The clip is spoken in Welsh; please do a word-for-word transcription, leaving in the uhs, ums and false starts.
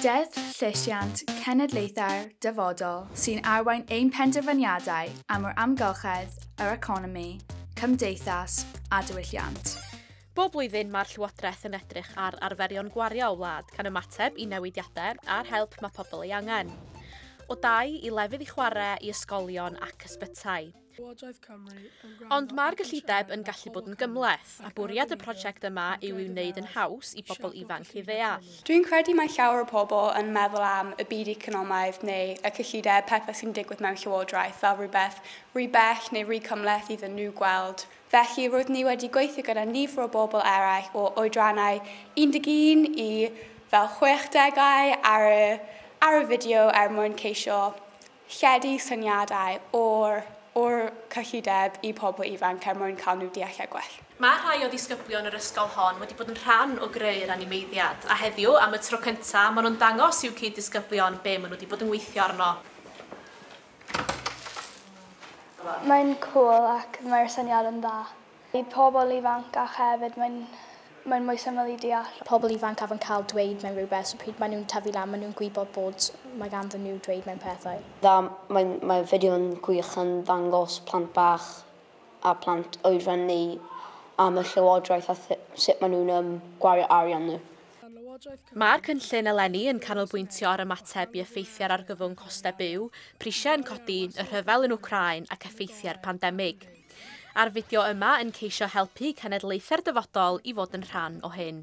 Deddf Llesiant Cenedlaethau'r Dyfodol sy'n arwain ein penderfyniadau am yr amgylchedd, yr economi, cymdeithas a diwylliant. Bob blwyddyn mae'r Llywodraeth yn edrych ar arferion gwario o wlad gan ymateb i newidiadau a'r help mae pobl ei angen. O dai i lefydd i chwarae i ysgolion ac ysbytai. Ond mae'r gyllideb yn gallu bod yn gymhleth, a bwriad y prosiect yma yw i'w wneud yn haws i bobl ifanc ei ddeall. Dwi'n credu mae llawer o pobl yn meddwl am y byd economaidd neu y cyllideb, pethau sy'n digwydd mewn llywodraeth fel rhywbeth rhy bell neu rhy cymhleth iddyn nhw gweld. Felly roedd ni wedi gweithio gyda nifer o bobl eraill o oedrannau un deg un i fel chwechdegau ar y, ar y fideo er mwyn ceisio lledu syniadau o'r o'r cyllideb i pobl ifanc er mwyn cael nhw deall e gwell. Mae rhai o ddisgyblion yr ysgol hon wedi bod yn rhan o greu'r animeiddiad, a heddiw am y tro cyntaf maen nhw'n dangos i'w cyd-disgyblion be maen nhw wedi bod yn weithio arno. Mae'n cool ac mae'r syniad yn dda. I pobl ifanc a hefyd mae'n mae'n mwy syml i deall. Pobl ifanc af yn cael dweud mewn rhywbeth, so pryd maen nhw'n tyfu lan, maen nhw'n gwybod bod mae ganddyn nhw dweud mewn pethau. Dda, mae, mae fideo'n gwych yn ddangos plant bach a plant oedran ni am y llywodraeth a sut maen nhw'n um, gwario arian nhw. Mae'r cynllun eleni yn canolbwyntio ar ymateb i effeithiau'r argyfwng costau byw, prisiau yn codi, y rhyfel yn Wcráin ac effeithiau'r pandemig. A'r fideo yma yn ceisio helpu cenedlaethau'r dyfodol i fod yn rhan o hyn.